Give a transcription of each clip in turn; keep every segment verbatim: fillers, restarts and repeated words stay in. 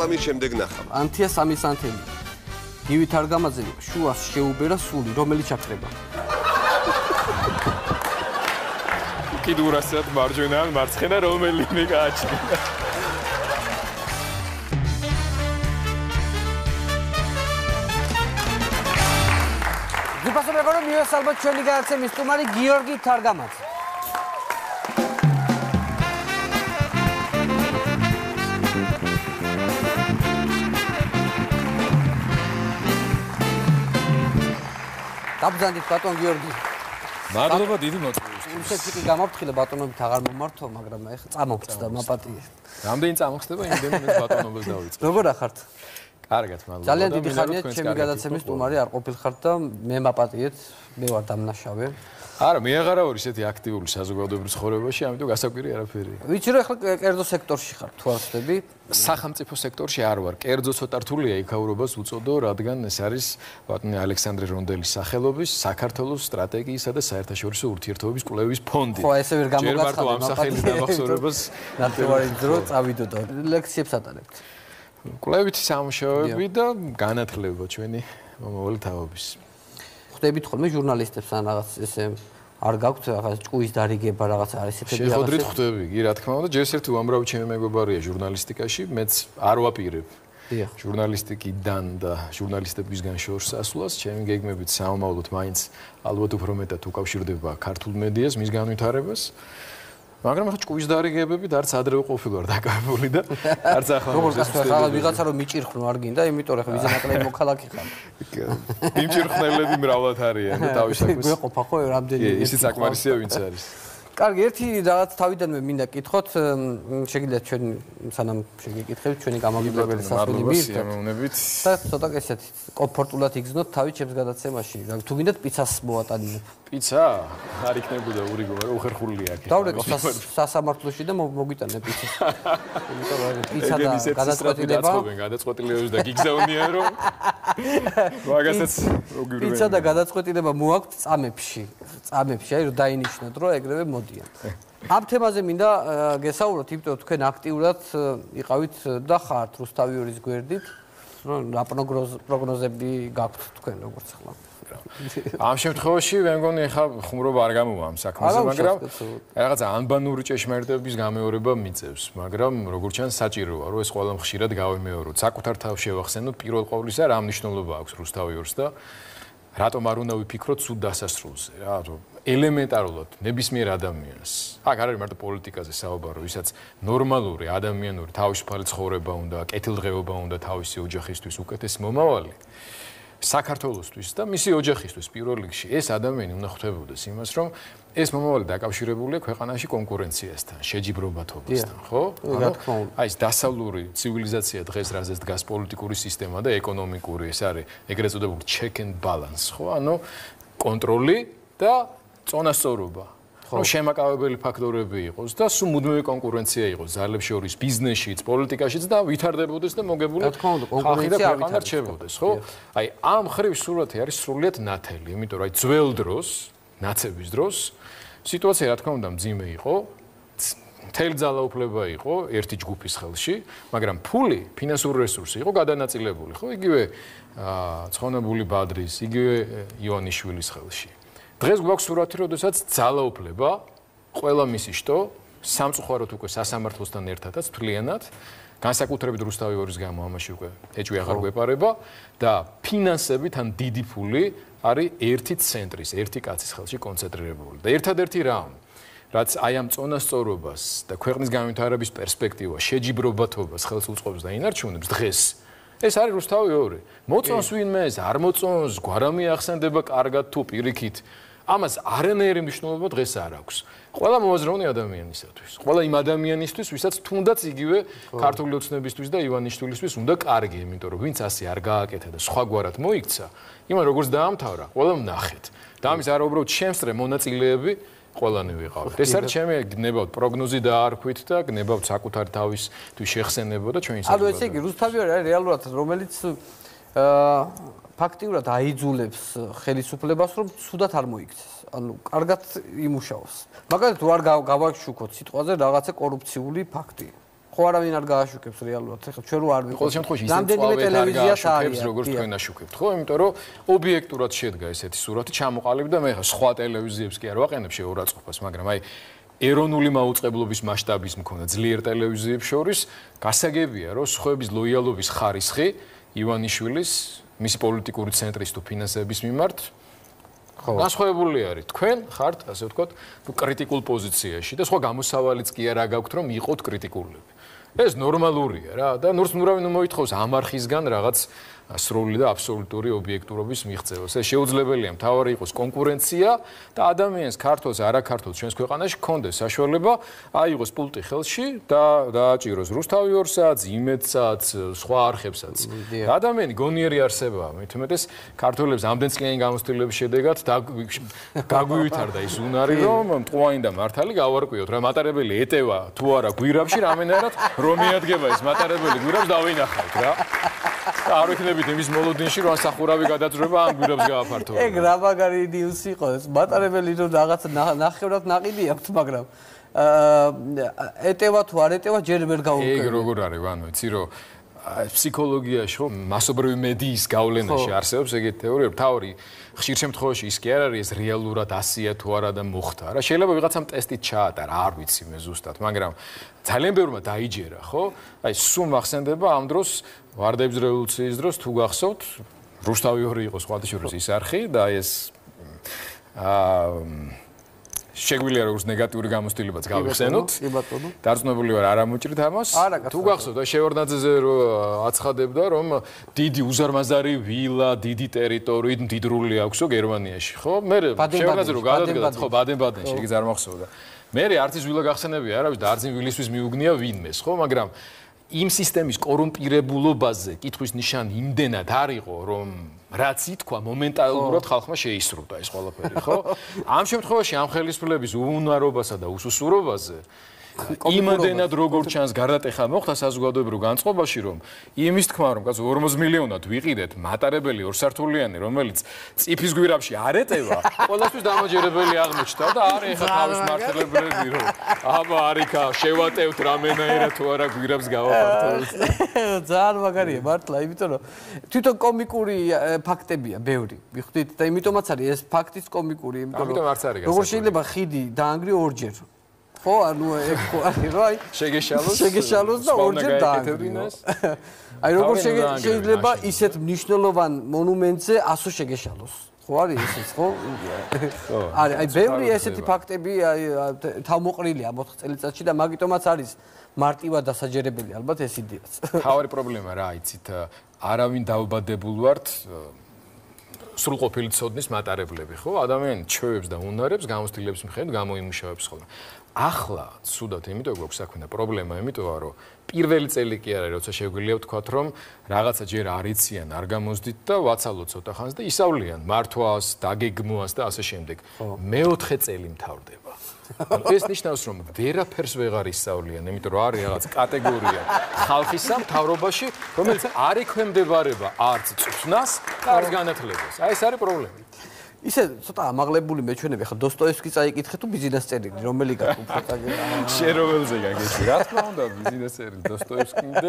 რეკლამის შემდეგ ნახავ. ანთია სამისანთელი. გივით არ გამაძები, შუას შეუბერა სული, რომელიც ჩაქრება. კიდურასად მარჯვენა ან მარცხენა რომელიმე გააჩნია. გიფასო მეგობრებო, მივეს ალბათ ჩვენი გადაცემის სტუმარი გიორგი თარგამაძე. დაბრძანდით ბატონ გიორგი. მადლობა დიდი მოწვევის. რუსეთში გამაფრთხილე ბატონობით აღარ მომართო, მაგრამ ეხლა წამოვწდა მაპატიე. რამდენი წამოხსდება იმდენი მე ბატონობას დავიწყე. როგორ ახართ? კარგად, მადლობა. ძალიან დიდი ხანია ჩემი გადაცემის სტუმარი არ ყოფილხართ და მე მაპატიეთ, მე ვარ დამნაშავე. არა, მე აღარა ვარ ისეთი აქტიური საზოგადოებრივ ცხოვრებაში, ამიტომ გასაკვირი არაფერია. ვიცი რომ ეხლა კერძო სექტორში ხარ, თუ არ ვხდები? სახელმწიფო სექტორში არ ვარ. კერძო ცოტა რთულია იქაურობას უწოდო, რადგან ეს არის ბატონი ალექსანდრე რონდელის სახელობის საქართველოს სტრატეგიისა და საერთაშორისო ურთიერთობების კვლევის ფონდი. ხო, ესე ვერ გამოგაცხადე. ჯერ მარტო ამ სახელის დამახსოვრებას ნახევარი დრო წავიდო და ლექციებს ატარებთ. კვლევითი სამუშაოები და განათლება ჩვენი მომავალი თაობის. ხდებით ხოლმე ჟურნალისტებს ან რაღაც ესე არ გაქვთ რაღაც ჭკუის დარიგება რაღაც არის ესეთები რაღაცა. შეხვდრით ხდები, კი რა თქმა უნდა, ჯერ ერთი უამრავი ჩემი მეგობარია ჟურნალისტიკაში, მეც არ ვაპირებ. დიახ. ჟურნალისტიკიდან და ჟურნალისტებისგან შორს ასვლას, ჩემი გეგმებით საომავლოდ მაინც ალბათ უფრო მეტად უკავშირდება ქართულ მედიას, მის განვითარებას. მაგრამ ახლა ჭკუის დარიგებებით არც ადრევე ყოფილი ვარ დაკავებული და არც ახლა როგორ გასვლა ხალხი ვიღაცა რომ მიჭირხნო არ გინდა, იმიტომ რომ ხა ვიზენაკლები მოქალაქე ხარ. მიმჭირხნელები მრავლად არიან და თავისთავად გვეყოფა ხო რამდენი ისიც საკმარისია ვინც არის. კარგი, ერთი რაღაც თავიდანვე მინდა კითხოთ, შეგიძლიათ ჩვენ სანამ შეგეკითხებით ჩვენი გამომგებელი სასწავლებელი მირთ და ცოტა ესეთი კომფორტულად იგზნოთ თავი ჩემს გადაცემაში. თუ გინდათ პიცას მოვატანინებ. პიცა? არ იქნებოდა ურიგო, მაგრამ უხერხული აქ. დავრეკო სასამართლოში და მოგვიტანე პიცას. იმიტომ რომ პიცა და გადაწყვეტილება გადაწყვეტილებებს და გიგზავნიან რომ მაგასაც მოგვირვენ. პიცა და გადაწყვეტილება მოაქვთ წამებში. წამებში, აი რომ დაინიშნოთ რომ ეგრევე მოდიან. ამ თემაზე მინდა გესაუბროთ, იმიტომ რომ თქვენ აქტიურად იყავით და ხართ რუსთავიორის გვერდით, რომ რა პროგნოზები გაქვთ თქვენ როგორც ახლა. ამ შემთხვევაში მე მგონი ახლა ხუმრობა არ გამოვა ამ საქმეზე, მაგრამ რაღაცა ანბანური ჭეშმარიტების გამეორება მიწევს, მაგრამ როგორც ჩანს საჭიროა, რომ ეს ყველა ხშირად გავიმეოროთ. საკუთარ თავს შევახსენოთ პირველ ყოვლისა რა მნიშვნელობა აქვს რუსთავიორს და რატომ არ უნდა ვიფიქროთ სულ დასასრულზე, რა, რომ ელემენტარულად ნებისმიერ ადამიანს. აქ არ არის მარტო პოლიტიკაზე საუბარი, ვისაც ნორმალური ადამიანური თავისუფალი ცხოვრება უნდა, კეთილდღეობა უნდა თავისი ოჯახისთვის უკეთესი მომავალი. საქართველოსთვის და მისი ოჯახისთვის პირველ რიგში ეს ადამიანი უნდა ხვდებოდეს იმას, რომ ეს მომავალი დაკავშირებულია ქვეყანაში კონკურენციასთან, შეჯიბრობათობასთან, ხო? აი ეს დასავლური ცივილიზაცია დღეს რაზეც დგას პოლიტიკური სისტემა და ეკონომიკური, ეს არის ეგრეთ წოდებული check and balance, ხო? ანუ კონტროლი და წონასწორობა. რომ შემაკავებელი ფაქტორები იყოს და სულ მუდმივი კონკურენცია იყოს ძალებს შორის ბიზნესშიც, პოლიტიკაშიც და ვითარდებოდეს და მოგებული ხალხი და ქვეყანა რჩებოდეს, ხო? აი ამ ხრივ სურათი არის სრულიად ნათელი, იმიტომ რომ აი ძველ დროს, ნაცების დროს სიტუაცია რა თქმა უნდა მძიმე იყო, მთელი ძალაუფლება იყო ერთი ჯგუფის ხელში, მაგრამ ფული, ფინანსური რესურსი იყო გადანაწილებული, ხო? იგივე ცხონებული ბადრის, იგივე ივანიშვილის ხელში. დღეს გვაქვს სურათი, როდესაც ძალაუფლება ყველა მისი შტო სამწუხაროდ უკვე სასამართლოსთან ერთადაც თვლიანად, განსაკუთრებით რუსთავიორის გამო ამაში უკვე ეჭვი აღარ გვეპარება და ფინანსებით ან დიდი ფული არის ერთი ცენტრის, ერთი კაცის ხელში კონცენტრირებული. და ერთადერთი რამ, რაც აი ამ წონასწორობას და ქვეყნის განვითარების პერსპექტივას, შეჯიბრობათობას ხელს უწყობს და ინარჩუნებს დღეს ეს არის რუსთავიორი. მოწონს ვინმე ეს, არ მოწონს, გვარამი ახსენდება კარგად თუ პირიქით. ამას არანაირი მნიშვნელობა დღეს არ აქვს. ყველა მოაზროვნე ადამიანისათვის, ყველა იმ ადამიანისთვის, ვისაც თუნდაც იგივე ქართული ოცნებისთვის და ივანიშვილისთვის უნდა კარგი, იმიტომ რომ ვინც ასე არ გააკეთა და სხვაგვარად მოიქცა, იმან როგორც დაამთავრა, ყველამ ნახეთ. და ამის არა უბრალოდ შემსწრე მონაწილეები ყველანი ვიყავით. ეს არის ჩემი გნებავთ პროგნოზი დაარქვით და გნებავთ საკუთარ თავის თუ შეხსენება და ჩვენი ანუ ესე იგი რუსთავიორი არის რეალურად რომელიც აა ფაქტიურად აიძულებს ხელისუფლებას რომ ცუდად არ მოიქცეს. ანუ კარგად იმუშაოს. მაგალითად თუ არ გავაშუქოთ სიტყვაზე რაღაცა კორუფციული ფაქტი. ხო ხო არავინ არ გააშუქებს რეალურად. ეხლა ჩვენ რო არ ვიყავ. ყოველ შემთხვევაში ისე ტელევიზიას არის, როგორც თქვენ აშუქებთ, ხო? იმიტომ რომ ობიექტურად შედგა ესეთი სურათი, ჩამოყალიბ და მე ხა სხვა ტელევიზიებს კი არ ვაყენებ შეურაცხყოფას, მაგრამ აი ეროვნული მაუწყებლობის მასშტაბის მქონდა ძლიერ ტელევიზიებს შორის გასაგებია, რომ სხვების ლოიალობის ხარისხი ივანიშვილის მისი პოლიტიკური ცენტრის თუ ფინანსების მიმართ განსხვავებული არის. თქვენ ხართ, ასე ვთქვათ, კრიტიკულ პოზიციაში და სხვა გამოსავალიც კი არ აგაქვთ, რომ იყოთ კრიტიკულები. ეს ნორმალურია რა და ნურს ნურავინ მოითხოვს ამ არხისგან რაღაც სრული და აბსოლუტური ობიექტურობის მიღწევას. ეს შეუძლებელია, მთავარი იყოს კონკურენცია და ადამიანს ქართულს, არაქართულს ჩვენს ქვეყანაში გქონდეს საშუალება აიღოს პულტი ხელში და დააჭიროს რუსთავი ორ საათს, იმედსაც, სხვა არხებსაც. ადამიანი გონიერი არსებაა, მით უმეტეს ქართველებს ამდენ წლიანი გამოცდილების შედეგად გაგვივითარდა ის უნარი, რომ მტყუანი და მართალი გავარკვიოთ რა მატარებელი ეტევა თუ არა გვირაბში, რამენერად რომ მიადგება ეს მატარებელი გვირაბს დავინახავთ რა. არ ვიქნებით იმის მოლოდინში რომ სახურავი გადაძრება ამ გვირაბს გააფართოვო. ეგ რა მაგარი ნიუსი იყო ეს მატარებელი რომ რაღაც ნახევრად ناقიდი აქვს, მაგრამ ეტევა თუ არ ეტევა ჯერ ვერ გავუკეთე. ეგ როგორ არის, ანუ იცი რომ ფსიქოლოგიაში ხო მასობრივი მედიის გავლენაში არსებობს ეგეთი თეორია, თავი ხშირ შემთხვევაში ის კი არ არის ეს რეალურად ასია თუ არა და მოხდა. რა შეიძლება ვიღაცამ ტესტით ჩაატარა, არ ვიცი მე ზუსტად, მაგრამ ძალიან ბევრმა დაიჯერა, ხო? აი სულ მახსენდება ამ დროს ვარდების რევოლუციის დროს თუ გახსოვთ, რუსთავი ორი იყო სხვათა შორის ის არხი და ეს აა შეგვიძლია როგორც ნეგატიური გამოცდილებაც გავიხსენოთ. დარწმუნებული ვარ არ ამოჭრით ამას. თუ გახსოვთ, აი შევარდნაძეზე რო აცხადებდა, რომ დიდი უზარმაზარი ვილა, დიდი ტერიტორიით მდიდრული აქვსო გერმანიაში, ხო? მე შევარდნაძე რო გადადგა, ხო, ბადენ-ბადენში, იგი წარმახსოვდა. მე არც ის ვილა გახსენებია, არავის და არც იმ ვილისთვის მიუგნია ვინმეს, ხო, მაგრამ იმ სისტემის კორუმპირებულობაზე კითხვის ნიშანი იმდენად არ იყო, რომ რაც ითქვა მომენტალურად ხალხმა შეისრულა ეს ყველაფერი, ხო? ამ შემთხვევაში ამ ხელისუფლების უუნარობასა და უსუსურობაზე იმდენად როგორ ჩანს გარდატეხა მოხდა საზოგადოებრივ განწყობაში, რომ იმის თქმა, რომ კაცო ორმოც მილიონად ვიყიდეთ მატარებელი ორსართულიანი, რომელიც წიფის გვირაბში არ ეტევა, ყველასთვის დამაჯერებელი აღმოჩნდა და არის ეხა თავის მართლებები, რომ აბა არიქა შევატევთ რამენაერად თუ არა გვირაბს გავაფართოვოთ. ძალიან მაგარია მართლა, იმიტომ რომ თვითონ კომიკური ფაქტებია ბევრი. მიხვდით და იმიტომაც არის ეს ფაქტიც კომიკური, იმიტომ რომ როგორ შეიძლება ხიდი დაანგრიო ორჯერ. ხო, ანუ ეგ ხო არის, რა, აი შეგეშალოს შეგეშალოს და ორჯერ დაანგრიოს. აი როგორ შეიძლება ისეთ მნიშვნელოვან მონუმენტზე ასო შეგეშალოს. ხო არის ესეც, ხო? არის, აი ბევრი ესეთი ფაქტები აი თავმოყრილია ამ ოთხ წელიწადში და მაგიტომაც არის მარტივად დასაჯერებელი ალბათ ეს იდეაც. თავარი პრობლემა რა, იცით, არავინ დაუბადებულ ვართ სრულყოფილი ცოდნის მატარებლები, ხო? ადამიანი ჩვევებს და უნარებს გამოცდილების მიხედვით გამოიმუშავებს ხოლმე. ახლა ცუდად იმიტომ გვაქვს საქმე და პრობლემა იმიტოა რომ პირველი წელი კი არის როცა შეგვიძლია ვთქვათ რომ რაღაცა ჯერ არ იციან არ გამოსდით და ვაცალოთ ცოტა ხანს და ისავლიან მართვას, დაგეგმვას და ასე შემდეგ. მეოთხე წელი მთავრდება. ეს ნიშნავს რომ ვერაფერს ვეღარ ისავლიან, იმიტომ რომ არის რაღაც კატეგორია ხალხისა მთავრობაში, რომელიც არ ექვემდებარება არც წვნას და არც განათლებას. აი ეს არის პრობლემა. ისე ცოტა ამაღლებული მეჩვენები, ხა დოსტოევსკი წაიკითხე თუ ბიზნეს წერილი, რომელი გაქვს უფრო წაგება? შეროველზე გაგეჩი. რა თქმა უნდა, ბიზნეს წერილი, დოსტოევსკი და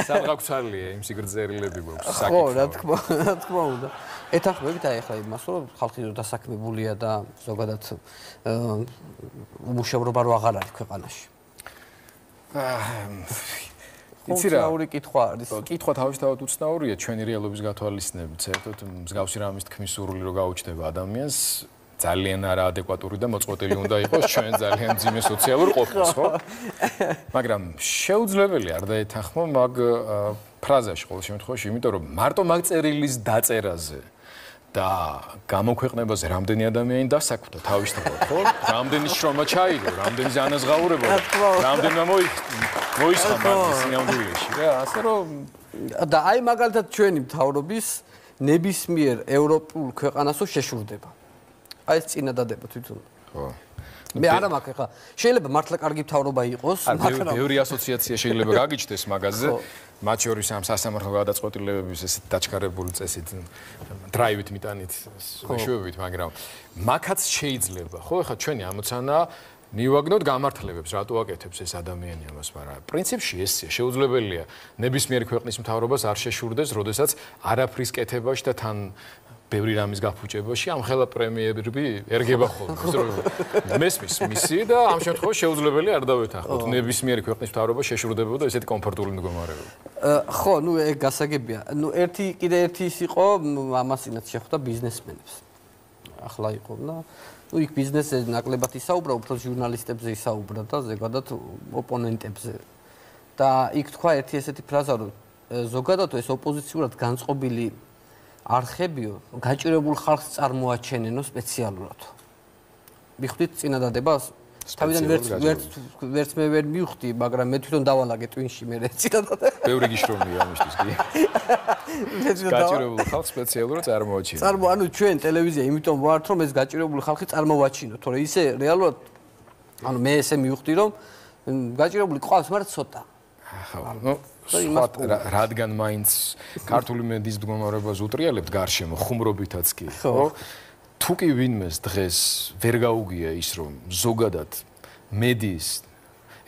სამღაქვცალია იმ სიგრძეილები გვაქვს საკითხი. ხო, რა თქმა, რა თქმა უნდა. ეთანხმებით აი ახლა იმას, რომ ხალხი რო დასაქმებულია და ზოგადად უმუშევრობა რო აღარ არის ქვეყანაში. იცი რა, უცნაური კითხვა არის. კითხვა თავისთავად უცნაურია ჩვენი რეალობის გათვალისწინებით. საერთოდ მსგავსი რამის თქმის სურვილი რო გაუჩნდება ადამიანს, ძალიან არაადეკვატური და მოწყვეტილი უნდა იყოს ჩვენ ძალიან მძიმე სოციალურ ყოფას, ხო? მაგრამ შეუძლებელი არ დაეთანხმო მაგ ფრაზაში ყოველ შემთხვევაში, იმიტომ რომ მარტო მაგ წერილის დაწერაზე და გამოქვეყნებაზე რამდენი ადამიანი დასაქმდა თავისთავად, ხო? რამდენი შრომა ჩაიგო, რამდენი ზანაზღაურება, რამდენმა მოისხა სინამდვილეში, რა, ასე რომ და აი მაგალითად ჩვენი მთავრობის ნებისმიერ ევროპულ ქვეყანასო შეშურდება. აი ეს წინადადება თვითონ. ხო. მე არა მაქვს ხა. შეიძლება მართლა კარგი მთავრობა იყოს, მაგრამ ბევრი ასოციაცია შეიძლება გაგიჩნდეს მაგაზე. მათ შორის ამ სასამართლო გადაწყვეტილებების ესეთ დაჩქარებული წესით დრაივით მიტანით, მეშვეობით, მაგრამ მაგაც შეიძლება, ხო? ხა ჩვენი ამოცანა მივაგნოთ გამართლებებს, რატო აკეთებს ეს ადამიანი ამას, მაგრამ პრინციპში ესეა, შეუძლებელია ნებისმიერი ქვეყნის მთავრობას არ შეშურდეს, როდესაც არაფრის კეთებაში და თან ბევრი რამის გაფუჭებაში ამ ხელა პრემიერები ერგება ხოლმე. მესმის მისი და ამ შემთხვევაში შეუძლებელია არ დავეთანხმოთ ნებისმიერი ქვეყნის მთავრობა შეშურდებოდა ესეთი კომფორტული მდგომარეობა. ხო, ნუ ეგ გასაგებია. ნუ ერთი კიდე ერთი ის იყო, ამასინაც შეხვდა ბიზნესმენებს. ახლა იყო და ნუ იქ ბიზნესზე ნაკლებად ისაუბრა, უფრო ჟურნალისტებზე ისაუბრა და ზოგადად ოპონენტებზე. და იქ თქვა ერთი ესეთი ფრაზა, რომ ზოგადად ეს ოპოზიციურად განწყობილი არხებიო გაჭირებულ ხალხს წარმოაჩენენო სპეციალურად. მიხვდით წინადადებას? თავიდან ვერც ვერც ვერც მე ვერ მივხვდი, მაგრამ მე თვითონ დავალაგე ტვინში მე წინადადება. ბევრი გიშრომია ამისთვის კი. გაჭირებულ ხალხს სპეციალურად წარმოაჩენო. წარმო, ანუ ჩვენ ტელევიზია იმიტომ ვართ, რომ ეს გაჭირებული ხალხი წარმოვაჩინოთ, თორე ისე რეალურად ანუ მე ესე მივხვდი, რომ გაჭირებული ყავს, მაგრამ ცოტა. ახლა ნუ რადგან მაინც ქართული მედიის მდგომარეობას უტრიალებთ გარშემო ხუმრობითაც კი ხო თუ კი ვინმეს დღეს ვერ გაუგია ის რომ ზოგადად მედიის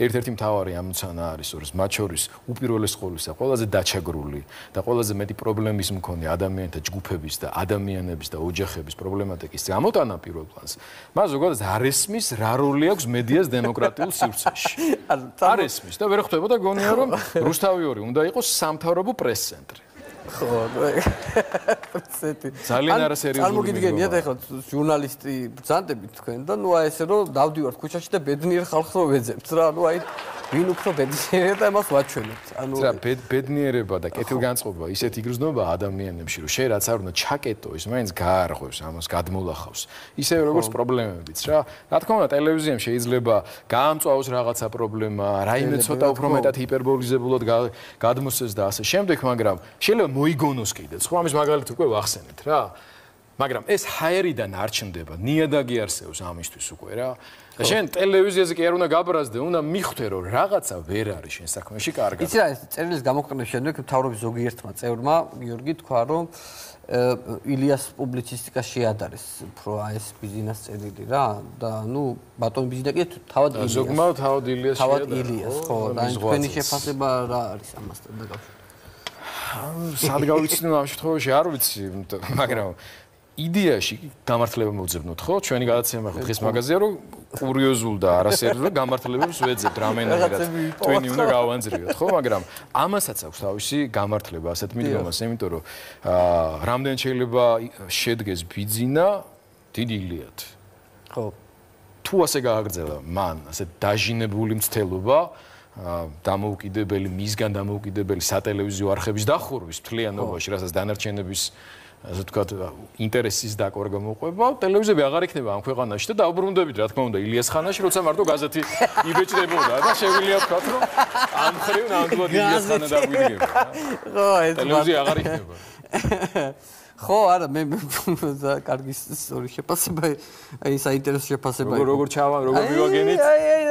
ერთ-ერთი მთავარი ამოცანა არის რომ მათ შორის უპირველეს ყოვლისა ყველაზე დაჩაგრული და ყველაზე მეტი პრობლემის მქონე ადამიანთა ჯგუფების და ადამიანების და ოჯახების პრობლემატიკის გამოტანა პირველ პლანს მას ზოგადად არ ესმის რა როლი აქვს მედიას დემოკრატიულ სივრცეში არ ესმის და ვერ ხვდებოდა გონია რომ რუსთავი ორი უნდა იყოს სამთავრობო პრეს-ცენტრი ხო, ძალიან არასერიოზული. წარმოგიდგენიათ ახლა ჟურნალისტი ბრძანდებით თქვენ და ნუ აი ესე რომ დავდივართ ქუჩაში და ბედნიერ ხალხს რო ვეძებთ რა, ნუ აი ვინ უფრო ბედნიერია და იმას ვაჩვენებთ. ანუ რა ბედნიერება და კეთილგანწყობა ისეთ იგრძნობა ადამიანებში რომ შენ რაც არ უნდა ჩაკეტო ის მაინც გაარღვევს ამას გადმოლახავს. ისევე როგორც პრობლემებიც რა. რა თქმა უნდა ტელევიზიამ შეიძლება გაამწვავოს რაღაცა პრობლემა, რაიმე ცოტა უფრო მეტად ჰიპერბოლიზებულად გადმოსცეს და ასე შემდეგ, მაგრამ შეიძლება მოიგონოს კიდეც. ხო ამის მაგალითი უკვე ვახსენეთ რა. მაგრამ ეს ჰაერიდან არ ჩნდება, ნიადაგი არსებობს ამისთვის უკვე რა. და შენ ტელევიზიაზე კი არ უნდა გაბრაზდე, უნდა მიხვდე რომ რაღაცა ვერ არის შენ საქმეში კარგად. იცი რა ეს წერილის გამოყენების შემდეგ მთავრობის ზოგიერთმა წევრმა გიორგი თქვა რომ ილიას პუბლიცისტიკა შეადარეს უფრო აი ეს ბიზნეს წერილი რა და ნუ ბატონ ბიზნესი კი თავად ილიას. ზოგმა თავად ილიას შეადარა. თავად ილიას ხო და თქვენი შეფასება რა არის ამასთან დაკავშირებით? სად გავიცნო ამ შემთხვევაში არ ვიცი, მაგრამ იდეაში გამართლება მოვძებნოთ, ხო? ჩვენი გადაცემა ხო დღეს მაგაზია, რომ კურიოზულ და არასერიოზულ გამართლებებს ვეძებთ რამენად. თქვენი უნდა გავანძრიოთ, ხო? მაგრამ ამასაც აქვს თავისი გამართლება, ასეთ მიდგომას, იმიტომ რომ რამდენ შეიძლება შედგეს ბიძინა დიდი ილიად. ხო. თუ ასე გააგრძელა მან, ასე დაჟინებული მცდელობა დამოუკიდებელი მისგან დამოუკიდებელი სატელევიზიო არხების დახურვის მთლიანობაში, რასაც დანარჩენების ასე ვთქვათ, ინტერესის დაკვირვა მოყვება, ტელევიზიები აღარ იქნება ამ ქვეყანაში და დაუბრუნდებით, რა თქმა უნდა, ილიას ხანაში, როცა მარტო გაზეთი იბეჭდებოდა და შეგვიძლია ვთქვათ, რომ ამ ხრივ ნამდვილად ილიას ხანა დაგვიდგება. ხო, ეს ტელევიზია აღარ იქნება. ხო, არა, მე კარგი სწორი შეფასება, აი საინტერესო შეფასება. როგორ როგორ ჩავა, როგორ მივაგენით?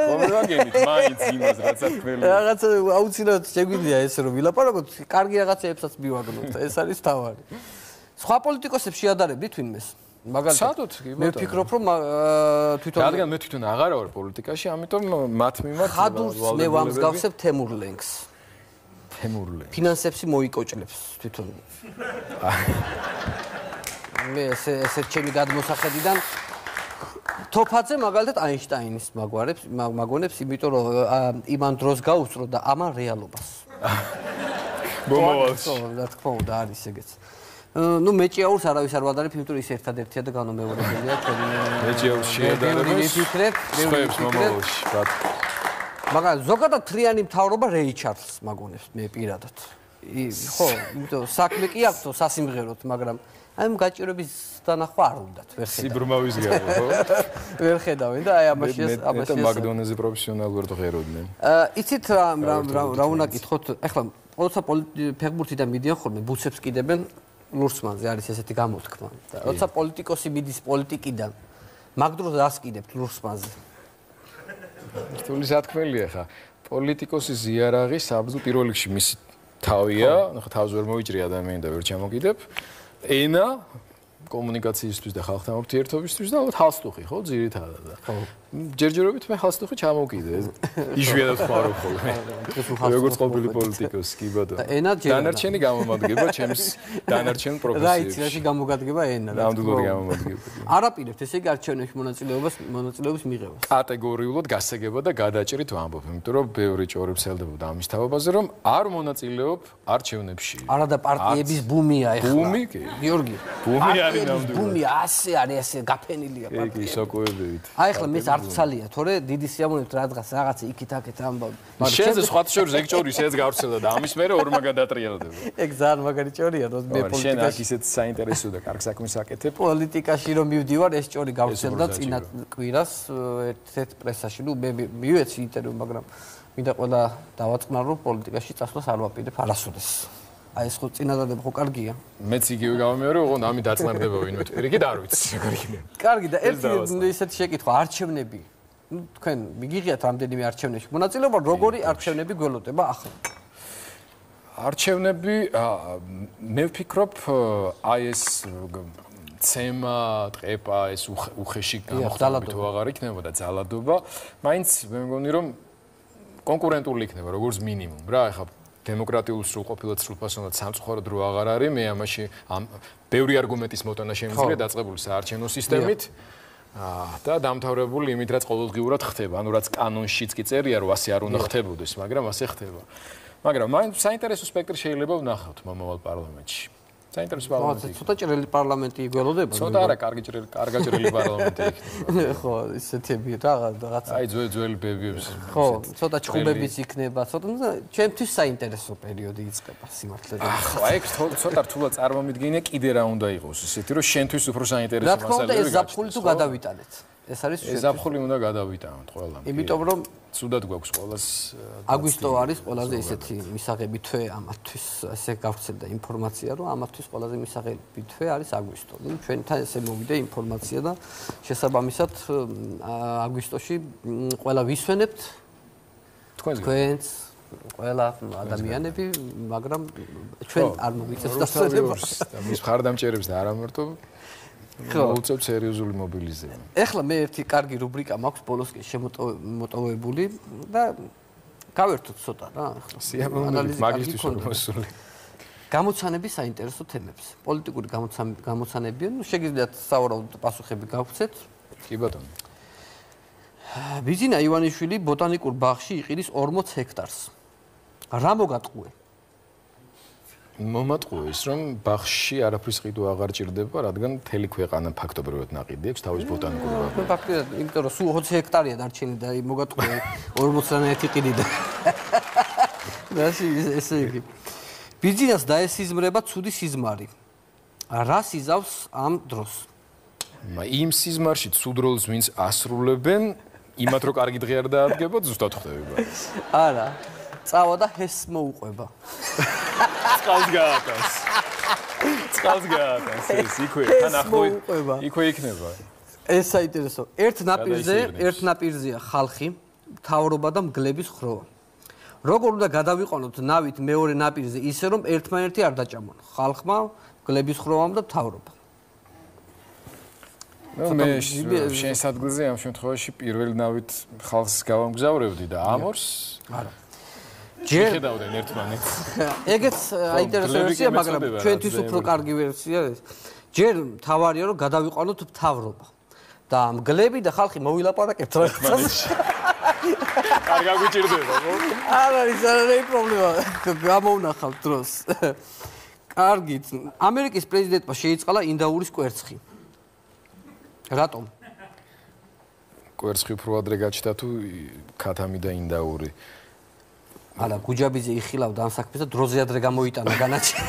ხო, მივაგენით, მაინც იმას რაც აქ რაღაცა აუცილებლად შეგვიძლია ესე რომ ვილაპარაკოთ, კარგი რაღაცებსაც მივაგნოთ, ეს არის თავარი. სხვა პოლიტიკოსებს შეადარებდით ვინმეს? მაგალითად, მე ვფიქრობ, რომ თვითონ რადგან მე თვითონ აღარ ვარ პოლიტიკაში, ამიტომ მათ მიმართ ხადურს მე ვამსგავსებ თემურ ლენგს. თემურ ლენგს. ფინანსებში მოიკოჭლებს თვითონ. მე ესე ესე ჩემი გადმოსახედიდან თოფაძე მაგალითად აინშტაინის მაგვარებს, მაგონებს, იმიტომ რომ იმან დროს გაუსწრო და ამან რეალობას. მომავალს. ხო, რა თქმა უნდა არის ეგეც. ну მეჭიაურს არავის არ ვადარებ, იმიტომ რომ ის ერთადერთია და განუმეორებელია ჩვენი მეჭიაურს შეადარებს. მე ვფიქრებ, მე ვფიქრებ. მაგრამ ზოგადად თლიანი მთავრობა რეი ჩარლს მაგონებს მე პირადად. ხო, იმიტომ საქმე კი აქვს სასიმღეროთ, მაგრამ აი ამ გაჭირების დანახვა არ უნდათ, ვერ ხედავ. სიბრმავის გამო, ხო? ვერ ხედავენ და აი ამაში ამაში მე მაგდონეზე პროფესიონალურად ღეროდნენ. აა იცით რა რა უნდა გითხოთ, ეხლა როცა ფეხბურთიდან მიდიან ხოლმე ბუცებს კიდებენ ლურსმანზე არის ესეთი გამოთქმა. და როცა პოლიტიკოსი მიდის პოლიტიკიდან, მაგ დროს რას კიდებთ ლურსმანზე? რთული სათქმელია ხა. პოლიტიკოსის ზიარაღი საბრძო პირველ რიგში მისი თავია, ხა თავს ვერ მოიჭრი ადამიანი და ვერ ჩამოკიდებ. ენა კომუნიკაციისთვის და ხალხთან ურთიერთობისთვის და ალბათ ჰალსტუხი, ხო, ძირითადად. ხო. ჯერჯერობით მე ხალხს ხე ჩამოვკიდე. იშვიათად ხმარო ხოლმე. როგორც ყოფილი პოლიტიკოსი, კი ბატონო. ენა ჯერა. დანარჩენი გამომადგება ჩემს დანარჩენ პროფესიებში. რა იცი, რაში გამოგადგება ენა. ნამდვილად გამომადგება. არაპირებთ ესე იგი არჩევნებში მონაწილეობას მონაწილეობის მიღებას. კატეგორიულად გასაგება და გადაჭრით ვამბობ, იმიტომ რომ ბევრი ჭორი ვრცელდებოდა ამის თავობაზე, რომ არ მონაწილეობ არჩევნებში. არა და პარტიების ბუმია ეხლა. ბუმი კი. გიორგი. ბუმი არის ნამდვილად. ბუმი ასე არის, ასე გაფენილია პარტია. კი, სოკოებივით. აი ახლა მეც არ ვცალია, თორე დიდი სიამოვნებით რაღაც რაღაცა იქით-აქეთ ამბავ. შენზე სხვა შორის ეგ ჭორი შეეც გავრცელდა და ამის მერე ორმა გადატრიალდება. ეგ ძალიან მაგარი ჭორია, რომ მე პოლიტიკაში. შენ აქ ისეთ საინტერესო და კარგ საქმეს აკეთებ. პოლიტიკაში რომ მივდივარ, ეს ჭორი გავრცელდა წინა კვირას ერთ-ერთ პრესაში. ნუ მე მივეცი ინტერვიუ, მაგრამ მინდა ყველა დავაწყნარო, რომ პოლიტიკაში წასვლას არ ვაპირებ არასოდეს. აი ეს ხო წინადადება ხო კარგია. მეც იგივე გავამეორე, ოღონდ ამით დაწნარდება ვინმე თუ პირიქით არ ვიცი როგორ იქნება. კარგი და ერთი ისეთი შეკითხვა, არჩევნები. ნუ თქვენ მიგიღიათ რამდენიმე არჩევნებში მონაწილეობა, როგორი არჩევნები გველოდება ახლა? არჩევნები მე ვფიქრობ აი ეს ცემა, ტყეპა, ეს უხეში გამოხდები თუ აღარ იქნებოდა ძალადობა, მაინც მე მგონი რომ კონკურენტული იქნება როგორც მინიმუმ რა, ეხლა დემოკრატიულ სრულყოფილად სრულფასოვნად სამწუხაროდ რო აღარ არის, მე ამაში ამ ბევრი არგუმენტის მოტანა შემიძლია დაწყებული საარჩევნო სისტემით და დამთავრებული იმით, რაც ყოველდღიურად ხდება, ანუ რაც კანონშიც კი წერია, რომ ასე არ უნდა ხდებოდეს, მაგრამ ასე ხდება. მაგრამ მაინც საინტერესო სპექტრი შეიძლება ვნახოთ მომავალ პარლამენტში. საინტერესო პარლამენტი. ცოტა ჭრელი პარლამენტი გველოდება? ცოტა არა, კარგი ჭრელი, კარგა ჭრელი პარლამენტი იქნება. ხო, ისეთები რაღაცა. აი ძველი ძველი ბებიებს. ხო, ცოტა ჩხუბებიც იქნება, ცოტა ჩემთვის საინტერესო პერიოდი იწყება სიმართლე. ახლა ეგ ცოტა რთულად წარმომიდგინე, კიდე რა უნდა იყოს ისეთი, რომ შენთვის უფრო საინტერესო მასალები გახდება. რა თქმა უნდა, ეს ზაფხული თუ გადავიტანეთ. ეს არის ეს ზაფხული უნდა გადავიტანოთ ყველამ. იმიტომ რომ ცუდად გვაქვს ყველას აგვისტო არის ყველაზე ისეთი მისაღები თვე ამათთვის, ესე გავრცელდა ინფორმაცია, რომ ამათთვის ყველაზე მისაღები თვე არის აგვისტო. ნუ ჩვენთან ესე მოვიდა ინფორმაცია და შესაბამისად აგვისტოში ყველა ვისვენებთ თქვენს ყველა ადამიანები, მაგრამ ჩვენ არ მოვიწევს დასწრებას და მის მხარდამჭერებს და არა მარტო მოუწევთ სერიოზული მობილიზება. ეხლა მე ერთი კარგი რუბრიკა მაქვს ბოლოსკენ შემოტოვებული და გავერთოთ ცოტა რა, ეხლა. სიამოვნებით მაგისტრის მოსული. გამოცანების საინტერესო თემებს. პოლიტიკური გამოცანებია, ნუ შეგიძლიათ სავარაუდო პასუხები გავცეთ. კი ბატონო. ბიძინა ივანიშვილი ბოტანიკურ ბაღში იყიდის ორმოც ჰექტარს. რა მოგატყუე? მომატყუეს რომ ბაღში არაფრის ყიდვა აღარ ჭირდება, რადგან მთელი ქვეყანა ფაქტობრივად ნაყიდი აქვს თავის ბოტანიკურ ბაღში. ფაქტობრივად, იმიტომ რომ სულ ოცი ჰექტარია დარჩენილი და მოგატყუე ორმოცდაერთი ყიდი და რაში ესე იგი. ბიძინას დაესიზმრება ცუდი სიზმარი. რა სიზავს ამ დროს? იმ სიზმარში ცუდ როლს ვინც ასრულებენ, იმათ რო კარგი დღე არ დაადგებოთ, ზუსტად ხდება. არა. წავა და ჰეს მოუყვება. წყალს გააკას. წყალს გააკას ეს იქვე თან ახლო იქვე იქნება. ეს საინტერესო. ერთ ნაპირზე, ერთ ნაპირზეა ხალხი, მთავრობა და მგლების ხროვა. როგორ უნდა გადავიყენოთ ნავით მეორე ნაპირზე ისე რომ ერთმანერთი არ დაჭამონ. ხალხმა, მგლების ხროვამ და მთავრობამ. ნუ მე შენ სადგურზე ამ შემთხვევაში პირველ ნავით ხალხს გავამგზავრებდი და ამორს არა ჯერ ხედავდნენ ერთმანეთს. ეგეც აინტერესო ვერსია, მაგრამ ჩვენთვის უფრო კარგი ვერსია ეს. ჯერ თავარია რომ გადავიყანოთ მთავრობა და მგლები და ხალხი მოვილაპარაკებთ რაღაცას. არ გაგვიჭირდება, ხო? არ არის არაერთი პრობლემა. გამოვნახავთ დროს. კარგით. ამერიკის პრეზიდენტმა შეიწყალა ინდაურის კვერცხი. რატომ? კვერცხი უფრო ადრე გაჩნდა თუ ქათამი და ინდაური? არა, გუჯაბიძე იხილავდა ამ საქმეს და დროზე ადრე გამოიტანა განაჩენი.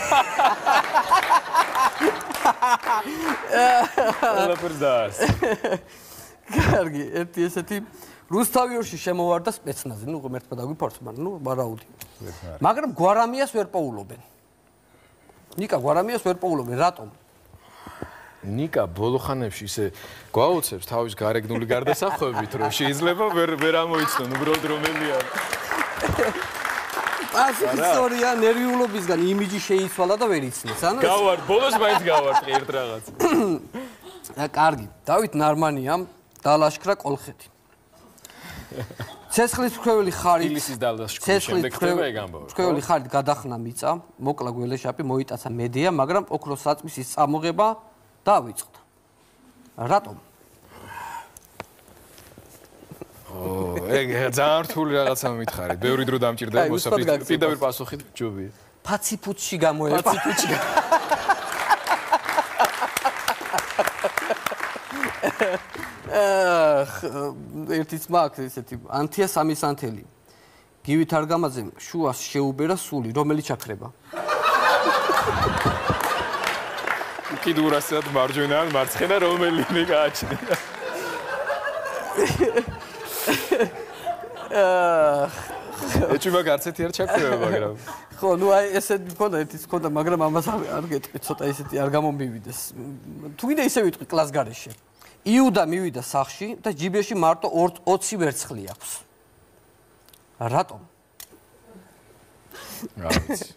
ყველაფერს დაასწრა. კარგი, ერთი ესეთი რუსთავიორში შემოვარდა სპეცნაზი, ნუ ღმერთმა დაგვიფარს, მაგრამ ნუ ვარაუდი. მაგრამ გვარამიას ვერ პოულობენ. ნიკა გვარამიას ვერ პოულობენ, რატომ? ნიკა ბოლოხანებში ისე გვაუცებს თავის გარეგნული გარდასახვევით, რომ შეიძლება ვერ ვერ ამოიცნონ უბრალოდ რომელია. ასეთი ისტორია ნერვიულობისგან იმიჯი შეიცვალა და ვერ იცნეს. ანუ გავარ, ბოლოს მაინც გავარტყი ერთ რაღაც. კარგი, დავით ნარმანიამ დალაშქრა კოლხეთი. ცეცხლის მქრეველი ხარით ილისის დალდას შკოლის შემდეგ ხდება ეგ ამბავი. მქრეველი ხარით გადახნა მიწა, მოკლა გველეშაპი, მოიტაცა მედია, მაგრამ ოქროს საწმისის წამოღება დავიწყდა. რატომ? ო, ეგ ძალიან რთული რაღაცა მითხარით. ბევრი დრო დამჭირდება მოსაფრთხე. პირდაპირ პასუხი ჯობია. ფაციფუჩში გამოევა. ფაციფუჩში. ერთი ძმა აქვს ესეთი ანთია სამისანთელი. გივით არგამაძემ შუას შეუბერა სული, რომელიც ჩაქრება. კიდურასად მარჯვენა ან მარცხენა რომელიმე გააჩნია. ეჭვმა გარცეთი არ ჩაქრება, მაგრამ ხო, ნუ აი ესეთი მქონდა, ერთიც მქონდა, მაგრამ ამას არ გეტყვი, ცოტა ისეთი არ გამომივიდეს. თუ კიდე ისე ვიტყვი კლას გარეშე. იუდა მივიდა სახლში და ჯიბეში მარტო ოცი ვერცხლი აქვს. რატომ? რა ვიცი.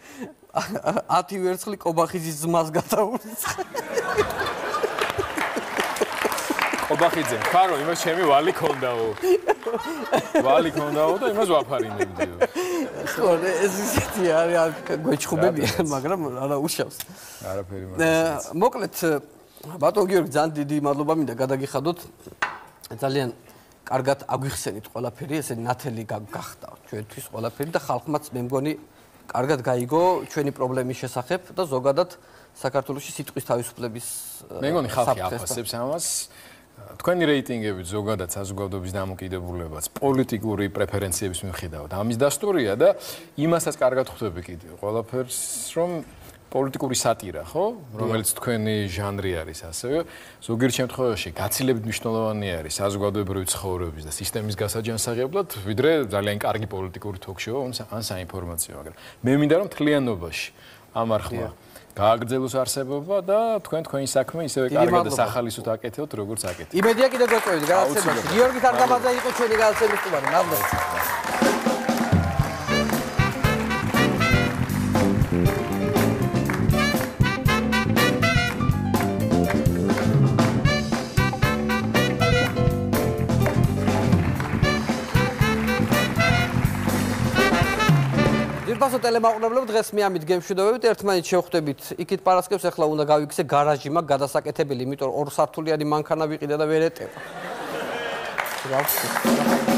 ათი ვერცხლი კობახიძის ძმას გადაურიცხა. კობახიძე, ხარო, იმას ჩემი ვალი ქონდაო. ვალი ქონდაო და იმას ვაფარინებდიო. ხო, ეს ისეთი არის, გვეჩხუბებია, მაგრამ არა უშავს. არაფერი მაგას. მოკლედ ბატონ გიორგი, ძალიან დიდი მადლობა მინდა გადაგიხადოთ. ძალიან კარგად აგვიხსენით ყველაფერი, ესე ნათელი გახდა ჩვენთვის ყველაფერი და ხალხმაც მე მგონი კარგად გაიგო ჩვენი პრობლემის შესახებ და ზოგადად საქართველოში სიტყვის თავისუფლების მე მგონი ხალხი აფასებს ამას. თქვენი რეიტინგები ზოგადად საზოგადოების დამოკიდებულებაც პოლიტიკური პრეფერენციების მიხედავთ. ამის დასტურია და იმასაც კარგად ხვდები კიდე ყველაფერს, რომ პოლიტიკური სატირა, ხო? რომელიც თქვენი ჟანრი არის, ასევე ზოგიერთ შემთხვევაში გაცილებით მნიშვნელოვანი არის საზოგადოებრივი ცხოვრების და სისტემის გასაჯანსაღებლად, ვიდრე ძალიან კარგი პოლიტიკური თოქ-შოუ ან საინფორმაციო, მაგრამ მე მინდა რომ მთლიანობაში ამ არხმა გააგრძელოს არსებობა და თქვენ თქვენი საქმე ისევე კარგად და სახალისოდ აკეთებთ, როგორც აკეთებთ. იმედია კიდევ გვეწევით გადაცემაში. გიორგი თარგამაძე იყო ჩვენი გადაცემის სტუმარი. მადლობა. ძირფასო ტელემაყურებლები, დღეს მე ამით გემშვიდობებით, ერთმანეთს შევხვდებით. იქით პარასკევს ახლა უნდა გავიქცე გარაჟი მაქვს გადასაკეთებელი, იმიტომ ორ სართულიანი მანქანა ვიყიდა და ვერ ეტევა. რა ვიცი.